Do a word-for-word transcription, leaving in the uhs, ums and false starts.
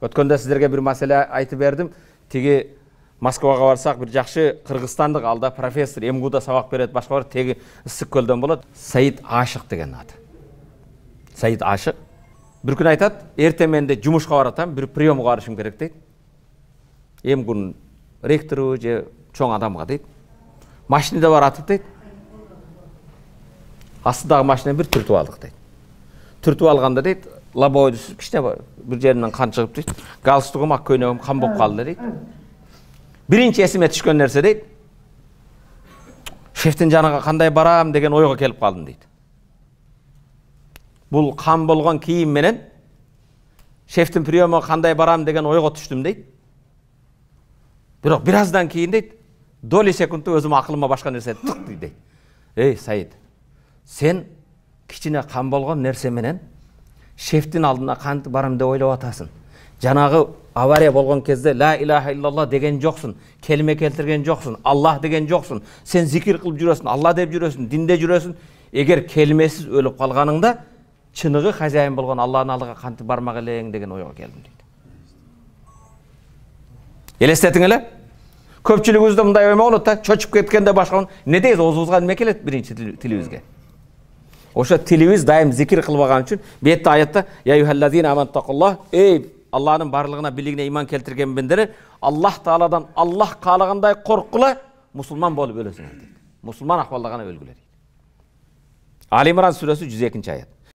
Өткөндө сиздерге бир маселе айтып бердим. Тиги Москвага барсак, бир жакшы кыргызстандык алда профессор МГУда сабак берет, башка бар, теги Ысык көлдөн болот. Саид Ашык деген аты. Саид Ашык. Бир күн айтат, эртең менде жумушка баратам, бир приемга барышым керек дейт. МГУнун ректору же чоң адамга дейт. Машинада баратып дейт. Астыдагы машина бир түртүп алдык дейт. Түртүп алганда дейт, лобовойду кичине бир жеринен кан чыгып дейт. Галстугум, ак көйнөгүм кан болуп калды дейт. Биринчи эсиме түшкөн нерсе дейт, шефтин жанына кандай барам деген ойго келип калдым дейт. Бул кан болгон кийим менен шефтин приемына кандай барам деген ойго түштүм дейт. Бирок бир аздан кийин дейт, доли секундту өзүм акылыма башка нерсе тык дейт. Эй, Саид, сен кичине кан болгон нерсе менен шефтин алдына кантип барам деп ойлоп атасың. Жанагы авария болгон кезде ла илаха иллаллах деген жоксун, келиме келтирген жоксун, Аллах деген жоксун. Сен зикир кылып жүрөсүң, Алла деп жүрөсүң, динде жүрөсүң. Эгер келмесиз өлүп калганыңда чыныгы хозяин болгон Алланын алдыга кантип бармак элең деген ойго келдим дейт. Элестетиң эле? Көпчүлүгүбүздө мындай оймо болот да, чочуп кеткенде башка не дейбиз, оозубузга неме келет биринчи тилибизге. Ошо тилибиз дайым зикир кылбаган үчүн бетте аятта я юхаллазина амантакуллах, эй Алланын барлыгына билигине иман келтирген бендер, Аллах Тааладан Аллах каалагандай коркула, мусулман болуп өлөсүңөр дейт. Мусулман акыбалда гана өлгүлө дейт. Али Имран сүрөсү жүз экинчи аят.